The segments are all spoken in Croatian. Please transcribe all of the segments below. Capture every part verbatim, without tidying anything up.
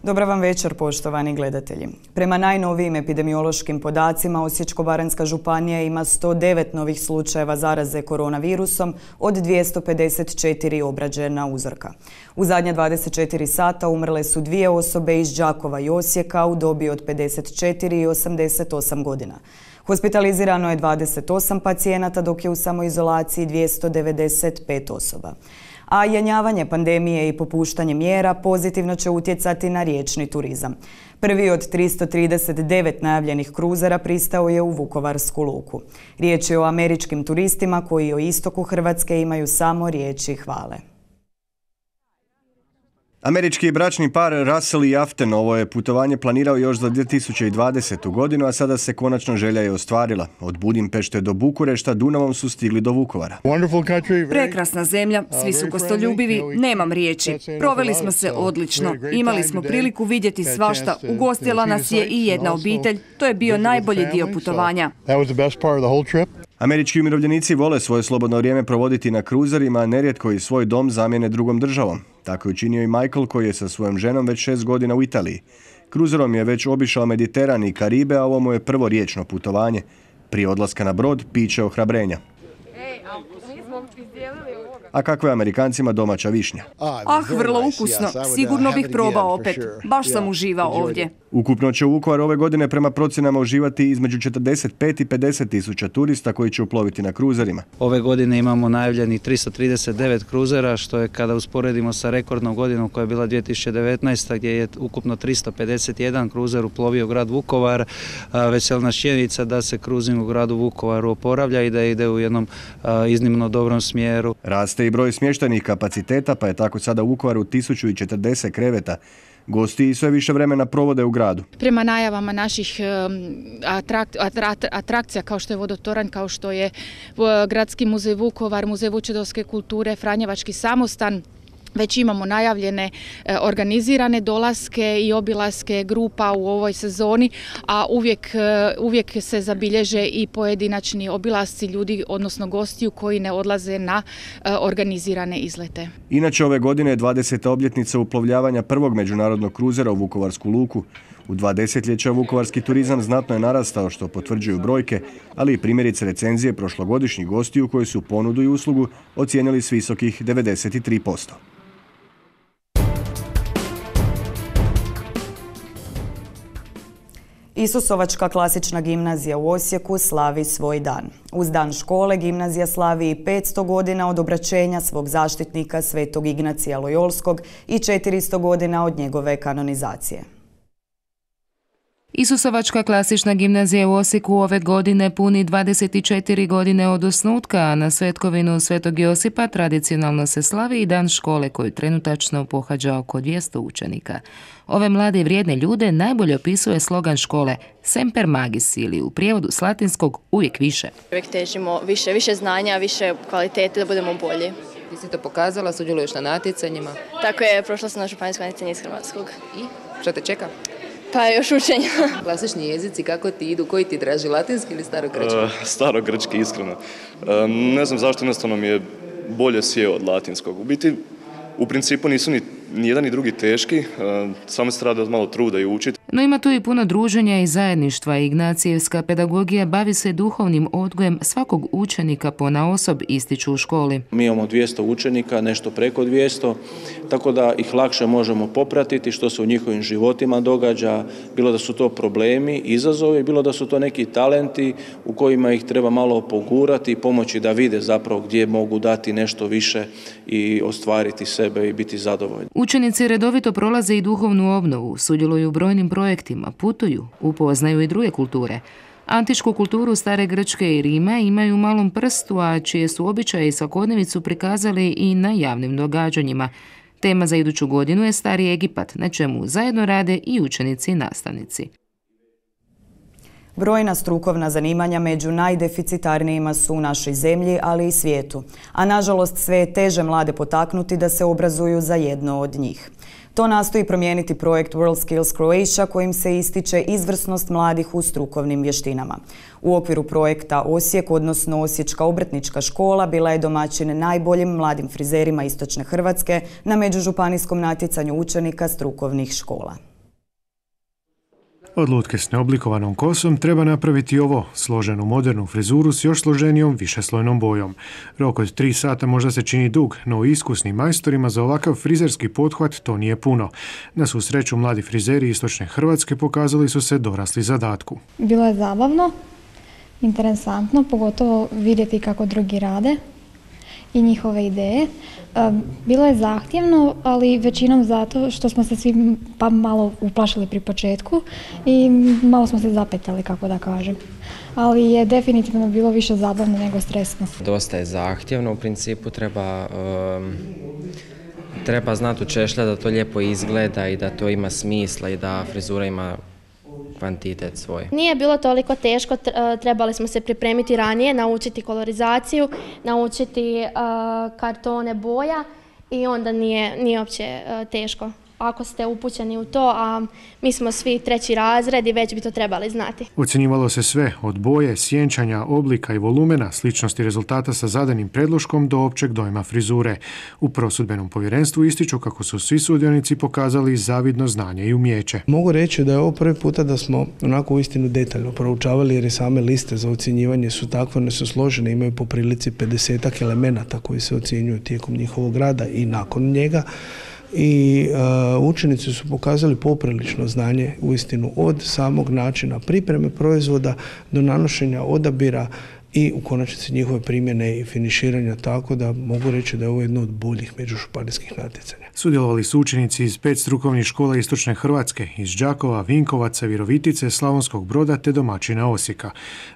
Dobar vam večer, poštovani gledatelji. Prema najnovijim epidemiološkim podacima, Osječko-baranjska županija ima sto devet novih slučajeva zaraze koronavirusom od dvjesto pedeset četiri obrađena uzorka. U zadnja dvadeset četiri sata umrle su dvije osobe iz Đakova i Osijeka u dobi od pedeset četiri i osamdeset osam godina. Hospitalizirano je dvadeset osam pacijenata, dok je u samoizolaciji dvjesto devedeset pet osoba. A jenjavanje pandemije i popuštanje mjera pozitivno će utjecati na riječni turizam. Prvi od tristo trideset devet najavljenih kruzera pristao je u Vukovarsku luku. Riječ je o američkim turistima koji o istoku Hrvatske imaju samo riječi hvale. Američki bračni par Russell i Afton ovo je putovanje planirao još za dvije tisuće dvadesetu godinu, a sada se konačno želja je ostvarila. Od Budimpešte do Bukurešta Dunavom su stigli do Vukovara. Prekrasna zemlja, svi su gostoljubivi, nemam riječi. Proveli smo se odlično. Imali smo priliku vidjeti svašta. Ugostila nas je i jedna obitelj. To je bio najbolji dio putovanja. Američki umirovljenici vole svoje slobodno vrijeme provoditi na kruzerima, a nerijetko i svoj dom zamijene drugom državom. Tako je učinio i Michael, koji je sa svojom ženom već šest godina u Italiji. Kruzerom je već obišao Mediteran i Karibe, a ovo mu je prvo riječno putovanje. Prije odlaska na brod piće ohrabrenja. A kakva je Amerikancima domaća višnja? Ah, vrlo ukusno. Sigurno bih probao opet. Baš sam uživao ovdje. Ukupno će u Vukovar ove godine prema procjenama uživati između četrdeset pet i pedeset tisuća turista koji će uploviti na kruzerima. Ove godine imamo najavljeni tristo trideset devet kruzera, što je kada usporedimo sa rekordnom godinom koja je bila dvije tisuće devetnaesta. gdje je ukupno tristo pedeset jedan kruzer uplovio grad Vukovar. Veseli nas činjenica da se kruzing u gradu Vukovaru oporavlja i da ide u jednom iznimno dobrom smjeru. Raste i broj smještajnih kapaciteta, pa je tako sada u Vukovaru tisuću četrdeset kreveta. Gosti sve više vremena provode u gradu. Prema najavama naših atrak, atrak, atrakcija kao što je vodotoranj, kao što je Gradski muzej Vukovar, Muzej vučedolske kulture, Franjevački samostan, već imamo najavljene organizirane dolaske i obilaske grupa u ovoj sezoni, a uvijek, uvijek se zabilježe i pojedinačni obilasci ljudi, odnosno gostiju koji ne odlaze na organizirane izlete. Inače, ove godine je dvadeseta obljetnica uplovljavanja prvog međunarodnog kruzera u Vukovarsku luku. U dva desetljeća vukovarski turizam znatno je narastao, što potvrđuju brojke, ali i primjerice recenzije prošlogodišnjih gostiju koji su ponudu i uslugu ocijenili s visokih devedeset tri posto. Isusovačka klasična gimnazija u Osijeku slavi svoj dan. Uz dan škole gimnazija slavi i petsto godina od obraćenja svog zaštitnika Svetog Ignacija Lojolskog i četiristo godina od njegove kanonizacije. Isusovačka klasična gimnazija u Osijeku ove godine puni dvadeset četiri godine od osnutka, a na svetkovinu Svetog Josipa tradicionalno se slavi i dan škole koju trenutačno pohađa oko dvjesto učenika. Ove mlade i vrijedne ljude najbolje opisuje slogan škole Semper Magis, ili u prijevodu s latinskog uvijek više. Uvijek težimo više, više znanja, više kvalitete da budemo bolji. Ti si to pokazala, sudjeluješ na natjecanjima? Tako je, prošla sam na županijsko natjecanje iz Hrvatskog. I što te čeka? Pa još učenja. Klasični jezici, kako ti idu? Koji ti draži, latinski ili starogrčki? Uh, starogrčki, iskreno. Uh, ne znam zašto, jednostavno mi je bolje sjeo od latinskog. U biti, u principu nisu ni, ni jedan ni drugi teški, uh, samo se treba malo truda i učiti. No ima tu i puno druženja i zajedništva. Ignacijevska pedagogija bavi se duhovnim odgojem svakog učenika ponaosob, ističu u školi. Mi imamo dvjesto učenika, nešto preko dvjesto, tako da ih lakše možemo popratiti što se u njihovim životima događa, bilo da su to problemi, izazovi, bilo da su to neki talenti u kojima ih treba malo pogurati i pomoći da vide zapravo gdje mogu dati nešto više i ostvariti sebe i biti zadovoljni. Učenici redovito prolaze i duhovnu obnovu, sudjeluju u brojnim projektima, putuju, upoznaju i druge kulture. Antičku kulturu stare Grčke i Rima imaju u malom prstu, a čije su običaje i svakodnevicu prikazali i na javnim događanjima. Tema za iduću godinu je Stari Egipat, na čemu zajedno rade i učenici i nastavnici. Brojna strukovna zanimanja među najdeficitarnijima su u našoj zemlji, ali i svijetu. A nažalost sve je teže mlade potaknuti da se obrazuju za jedno od njih. To nastoji promijeniti projekt World Skills Croatia, kojim se ističe izvrsnost mladih u strukovnim vještinama. U okviru projekta Osijek, odnosno Osječka obrtnička škola, bila je domaćin najboljim mladim frizerima istočne Hrvatske na međužupanijskom natjecanju učenika strukovnih škola. Od lutke s neoblikovanom kosom treba napraviti ovo, složenu modernu frizuru s još složenijom višeslojnom bojom. Rok od tri sata možda se čini dug, no iskusnim majstorima za ovakav frizerski pothvat to nije puno. Na svu sreću, mladi frizeri istočne Hrvatske pokazali su se dorasli zadatku. Bilo je zabavno, interesantno, pogotovo vidjeti kako drugi rade i njihove ideje. Bilo je zahtjevno, ali većinom zato što smo se svi pa malo uplašili pri početku i malo smo se zapetljali, kako da kažem. Ali je definitivno bilo više zabavno nego stresno. Dosta je zahtjevno, u principu treba, um, treba znati učešljati da to lijepo izgleda i da to ima smisla i da frizura ima kvantitet svoj. Nije bilo toliko teško, trebali smo se pripremiti ranije, naučiti kolorizaciju, naučiti uh, kartone boja i onda nije, nije uopće uh, teško. Ako ste upućeni u to, a mi smo svi treći razred i već bi to trebali znati. Ocjenjivalo se sve, od boje, sjenčanja, oblika i volumena, sličnosti rezultata sa zadanim predloškom do općeg dojma frizure. U prosudbenom povjerenstvu ističu kako su svi sudionici pokazali zavidno znanje i umijeće. Mogu reći da je ovo prvi puta da smo onako uistinu detaljno proučavali, jer i same liste za ocjenjivanje su takve, one su složene, imaju po prilici pedesetak elemenata koji se ocjenjuju tijekom njihovog rada i nakon njega. I uh, učenici su pokazali poprilično znanje uistinu od samog načina pripreme proizvoda do nanošenja odabira i u konačnici njihove primjene i finiširanja, tako da mogu reći da je ovo jedno od boljih međužupanijskih natjecanja. Sudjelovali su učenici iz pet strukovnih škola istočne Hrvatske, iz Đakova, Vinkovaca, Virovitice, Slavonskog Broda te domaćina Osijeka.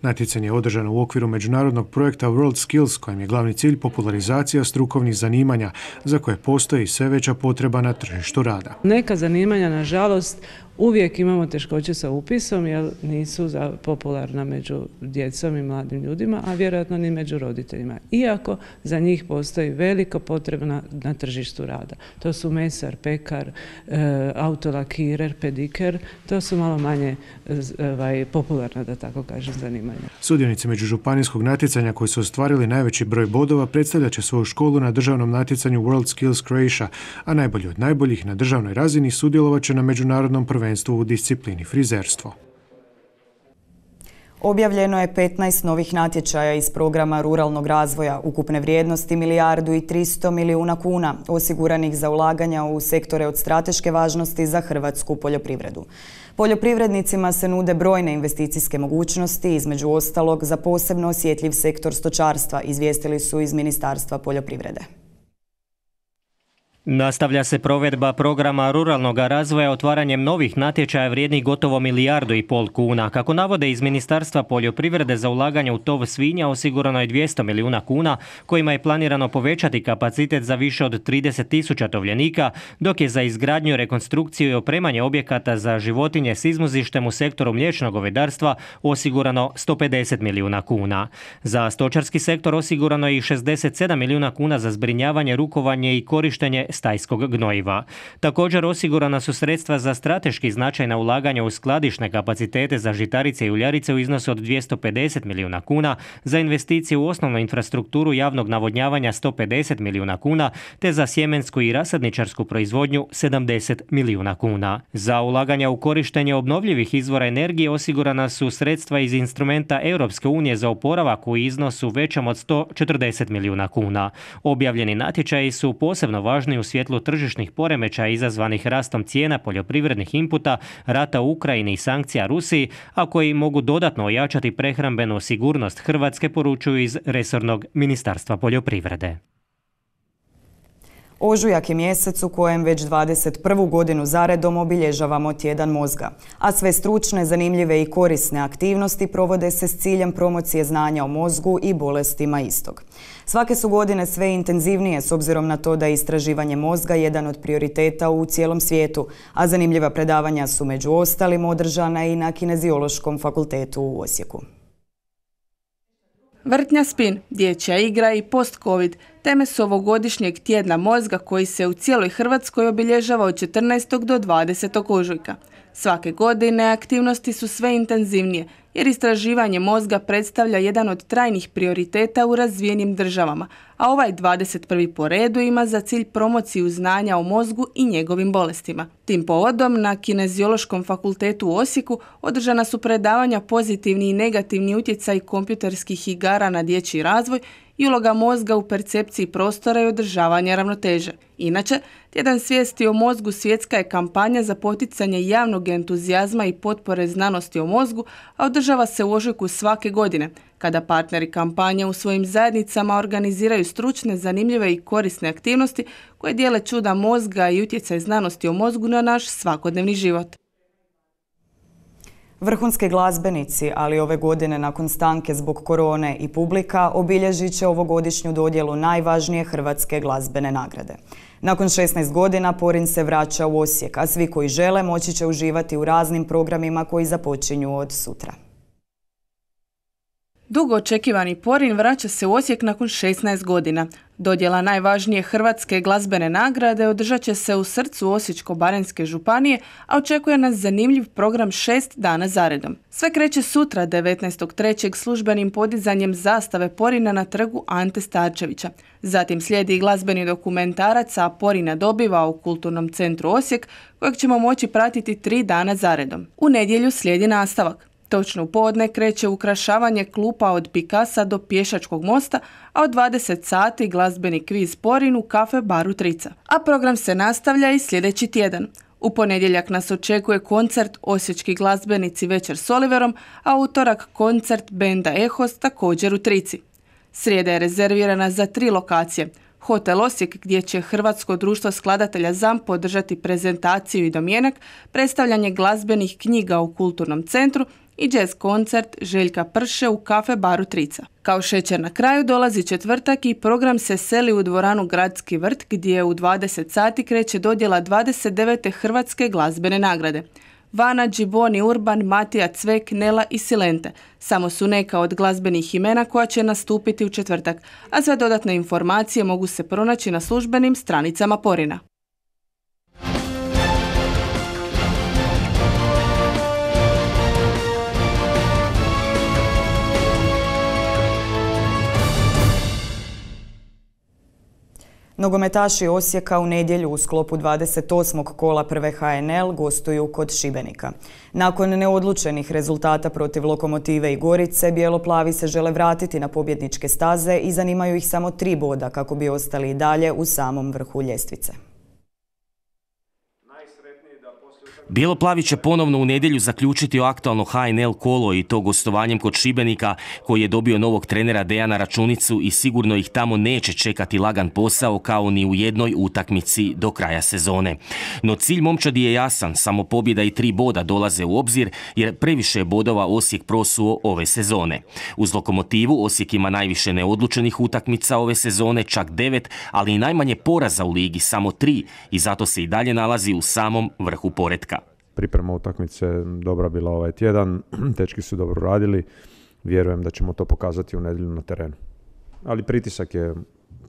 Natjecanje je održano u okviru međunarodnog projekta World Skills, kojem je glavni cilj popularizacija strukovnih zanimanja, za koje postoji sve veća potreba na tržištu rada. Neka zanimanja, nažalost, uvijek imamo teškoće sa upisom jer nisu popularna među djecom i mladim ljudima, a vjerojatno ni među roditeljima. Iako za njih postoji velika potreba na, na tržištu rada. To su mesar, pekar, e, autolakirer, pediker, to su malo manje ovaj, popularna, da tako kažem, zanimanja. Sudionici međužupanijskog natjecanja koji su ostvarili najveći broj bodova predstavljat će svoju školu na državnom natjecanju World Skills Croatia, a najbolji od najboljih na državnoj razini sudjelovat će na međunarodnom prvenstvu u disciplini frizerstvo. Objavljeno je petnaest novih natječaja iz programa ruralnog razvoja, ukupne vrijednosti milijardu i tristo milijuna kuna, osiguranih za ulaganja u sektore od strateške važnosti za hrvatsku poljoprivredu. Poljoprivrednicima se nude brojne investicijske mogućnosti, između ostalog za posebno osjetljiv sektor stočarstva, izvijestili su iz Ministarstva poljoprivrede. Nastavlja se provedba programa ruralnog razvoja otvaranjem novih natječaja vrijednih gotovo milijardu i pol kuna. Kako navode iz Ministarstva poljoprivrede, za ulaganje u tov svinja osigurano je dvjesto milijuna kuna, kojima je planirano povećati kapacitet za više od trideset tisuća tovljenika, dok je za izgradnju, rekonstrukciju i opremanje objekata za životinje s izmuzištem u sektoru mliječnog govedarstva osigurano sto pedeset milijuna kuna. Za stočarski sektor osigurano je i šezdeset sedam milijuna kuna za zbrinjavanje, rukovanje i korištenje stajskog gnojiva. Također osigurana su sredstva za strateški značajna ulaganja u skladišne kapacitete za žitarice i uljarice u iznosu od dvjesto pedeset milijuna kuna, za investicije u osnovnu infrastrukturu javnog navodnjavanja sto pedeset milijuna kuna, te za sjemensku i rasadničarsku proizvodnju sedamdeset milijuna kuna. Za ulaganja u korištenje obnovljivih izvora energije osigurana su sredstva iz instrumenta Europske unije za oporavak u iznosu većem od sto četrdeset milijuna kuna. Objavljeni natječaji su posebno važni u svjetlu tržišnih poremećaja izazvanih rastom cijena poljoprivrednih inputa, rata u Ukrajini i sankcija Rusiji, a koji mogu dodatno ojačati prehrambenu sigurnost Hrvatske, poručuju iz resornog Ministarstva poljoprivrede. Ožujak je mjesec u kojem već dvadeset prvu godinu zaredom obilježavamo tjedan mozga, a sve stručne, zanimljive i korisne aktivnosti provode se s ciljem promocije znanja o mozgu i bolestima istog. Svake su godine sve intenzivnije s obzirom na to da je istraživanje mozga jedan od prioriteta u cijelom svijetu, a zanimljiva predavanja su među ostalim održana i na Kineziološkom fakultetu u Osijeku. Vrtnja spin, dječja igra i post-covid teme su ovogodišnjeg tjedna mozga koji se u cijeloj Hrvatskoj obilježava od četrnaestog do dvadesetog ožujka. Svake godine aktivnosti su sve intenzivnije jer istraživanje mozga predstavlja jedan od trajnih prioriteta u razvijenim državama, a ovaj dvadeset prvi po redu ima za cilj promociju znanja o mozgu i njegovim bolestima. Tim povodom na Kineziološkom fakultetu u Osijeku održana su predavanja pozitivni i negativni utjecaj kompjuterskih igara na dječji razvoj i uloga mozga u percepciji prostora i održavanja ravnoteže. Inače, Tjedan svijesti o mozgu svjetska je kampanja za poticanje javnog entuzijazma i potpore znanosti o mozgu, a održava se u ožujku svake godine, kada partneri kampanje u svojim zajednicama organiziraju stručne, zanimljive i korisne aktivnosti koje dijele čuda mozga i utjecaj znanosti o mozgu na naš svakodnevni život. Vrhunski glazbenici, ali ove godine nakon stanke zbog korone i publika, obilježit će ovogodišnju dodjelu najvažnije hrvatske glazbene nagrade. Nakon šesnaest godina Porin se vraća u Osijek, a svi koji žele moći će uživati u raznim programima koji započinju od sutra. Dugo očekivani Porin vraća se u Osijek nakon šesnaest godina. Dodjela najvažnije hrvatske glazbene nagrade održat će se u srcu Osječko-baranjske županije, a očekuje nas zanimljiv program šest dana zaredom. Sve kreće sutra, devetnaestog trećeg službenim podizanjem zastave Porina na trgu Ante Starčevića. Zatim slijedi glazbeni dokumentarac, a Porina dobiva u Kulturnom centru Osijek, kojeg ćemo moći pratiti tri dana zaredom. U nedjelju slijedi nastavak. Točno u podne kreće ukrašavanje klupa od Pikasa do Pješačkog mosta, a od dvadeset sati glazbeni kviz Porin u kafe baru Trica. A program se nastavlja i sljedeći tjedan. U ponedjeljak nas očekuje koncert Osječki glazbenici večer s Oliverom, a utorak koncert benda Ehos također u Trici. Srijeda je rezervirana za tri lokacije. Hotel Osijek, gdje će Hrvatsko društvo skladatelja ZAMP podržati prezentaciju i domjenak, predstavljanje glazbenih knjiga u Kulturnom centru i jazz koncert Željka Prše u kafe baru Trica. Kao šećer na kraju dolazi četvrtak i program se seli u dvoranu Gradski vrt, gdje u dvadeset sati kreće dodjela dvadeset devete hrvatske glazbene nagrade. Vana, Džiboni, Urban, Matija, Cvek, Nela i Silente samo su neka od glazbenih imena koja će nastupiti u četvrtak, a sve dodatne informacije mogu se pronaći na službenim stranicama Porina. Nogometaši Osijeka u nedjelju u sklopu dvadeset osmog kola prve ha en el gostuju kod Šibenika. Nakon neodlučenih rezultata protiv Lokomotive i Gorice, bijeloplavi se žele vratiti na pobjedničke staze i zanimaju ih samo tri boda kako bi ostali i dalje u samom vrhu ljestvice. Bijeloplavi će ponovno u nedjelju zaključiti aktualno ha en el kolo i to gostovanjem kod Šibenika, koji je dobio novog trenera Dejana Računicu i sigurno ih tamo neće čekati lagan posao kao ni u jednoj utakmici do kraja sezone. No cilj momčadi je jasan, samo pobjeda i tri boda dolaze u obzir jer previše je bodova Osijek prosuo ove sezone. Uz Lokomotivu Osijek ima najviše neodlučenih utakmica ove sezone, čak devet, ali i najmanje poraza u ligi, samo tri, i zato se i dalje nalazi u samom vrhu poretka. Priprema utakmice dobra bila ovaj tjedan, dečki su dobro radili, vjerujem da ćemo to pokazati u nedjelju na terenu. Ali pritisak je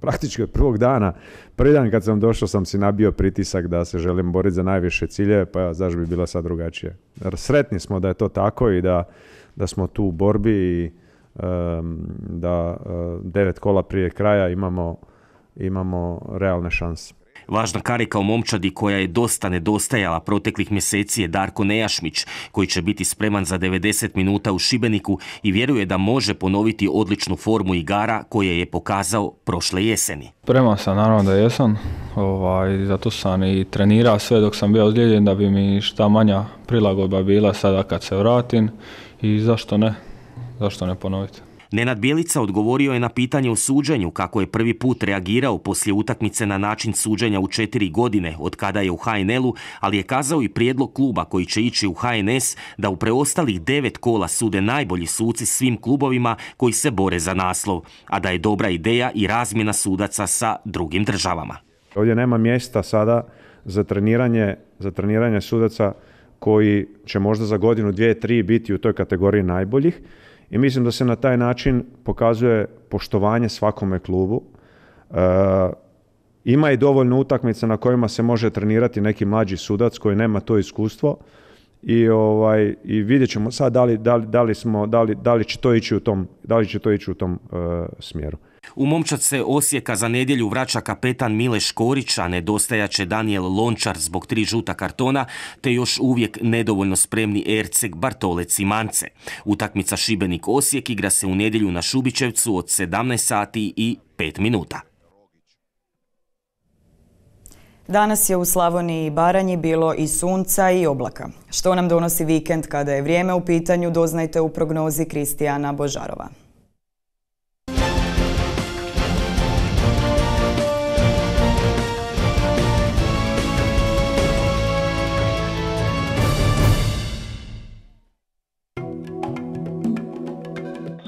praktički od prvog dana. Prvi dan kad sam došao sam si nabio pritisak da se želim boriti za najviše ciljeve, pa zašto bi bila sad drugačije. Sretni smo da je to tako i da, da smo tu u borbi i um, da uh, devet kola prije kraja imamo, imamo realne šanse. Važna karika u momčadi koja je dosta nedostajala proteklih mjeseci je Darko Nejašmić, koji će biti spreman za devedeset minuta u Šibeniku i vjeruje da može ponoviti odličnu formu igara koje je pokazao prošle jeseni. Spreman sam, naravno da jesam, ovaj, zato sam i trenirao sve dok sam bio ozlijeđen da bi mi šta manja prilagodba bila sada kad se vratim i zašto ne, zašto ne ponoviti. Nenad Bjelica odgovorio je na pitanje o suđenju kako je prvi put reagirao poslije utakmice na način suđenja u četiri godine od kada je u ha en elu, ali je kazao i prijedlog kluba koji će ići u ha en es da u preostalih devet kola sude najbolji suci svim klubovima koji se bore za naslov, a da je dobra ideja i razmjena sudaca sa drugim državama. Ovdje nema mjesta sada za treniranje, za treniranje sudaca koji će možda za godinu, dvije, tri biti u toj kategoriji najboljih. I mislim da se na taj način pokazuje poštovanje svakome klubu. E, ima i dovoljno utakmica na kojima se može trenirati neki mlađi sudac koji nema to iskustvo i ovaj i vidjet ćemo sad da li, da li, da li smo da li, da li će to ići u tom da li će to ići u tom uh, smjeru. U momčad Osijeka za nedjelju vraća kapetan Mile Škorić, a nedostajaće Daniel Lončar zbog tri žuta kartona, te još uvijek nedovoljno spremni Erceg, Bartolec i Mance. Utakmica Šibenik-Osijek igra se u nedjelju na Šubićevcu od sedamnaest sati i pet minuta. Danas je u Slavoniji i Baranji bilo i sunca i oblaka. Što nam donosi vikend kada je vrijeme u pitanju, doznajte u prognozi Kristijana Božarova.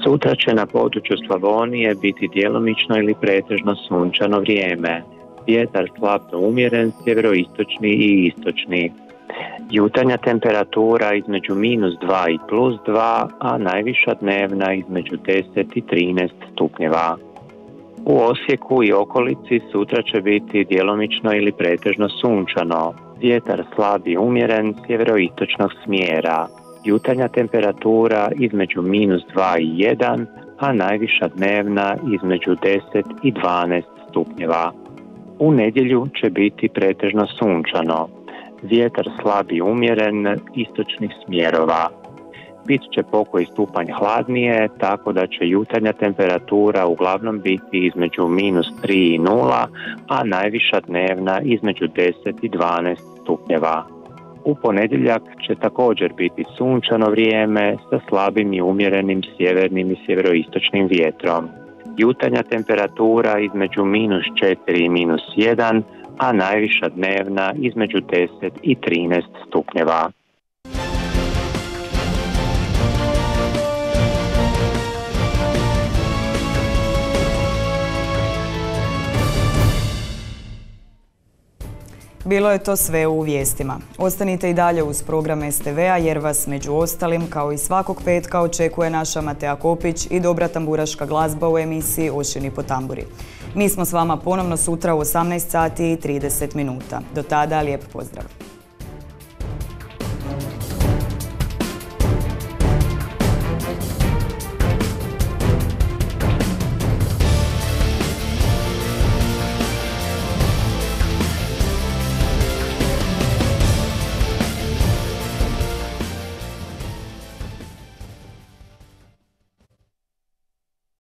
Sutra će na području Slavonije biti djelomično ili pretežno sunčano vrijeme. Vjetar slabno umjeren, sjeveroistočni i istočni. Jutarnja temperatura između minus dva i plus dva, a najviša dnevna između deset i trinaest stupnjeva. U Osijeku i okolici sutra će biti djelomično ili pretežno sunčano. Vjetar slab i umjeren, sjeveroistočnog smjera. Jutarnja temperatura između minus dva i jedan, a najviša dnevna između deset i dvanaest stupnjeva. U nedjelju će biti pretežno sunčano. Vjetar slab i umjeren, istočnih smjerova. Bit će pokoji stupanj hladnije, tako da će jutarnja temperatura uglavnom biti između minus tri i nula, a najviša dnevna između deset i dvanaest stupnjeva. U ponedjeljak će također biti sunčano vrijeme sa slabim i umjerenim sjevernim i sjeveroistočnim vjetrom. Jutarnja temperatura između minus četiri i minus jedan, a najviša dnevna između deset i trinaest stupnjeva. Bilo je to sve u vijestima. Ostanite i dalje uz program S T V-a jer vas među ostalim kao i svakog petka očekuje naša Matea Kopić i dobra tamburaška glazba u emisiji Ošini po tamburi. Mi smo s vama ponovno sutra u osamnaest sati i trideset minuta. Do tada lijep pozdrav!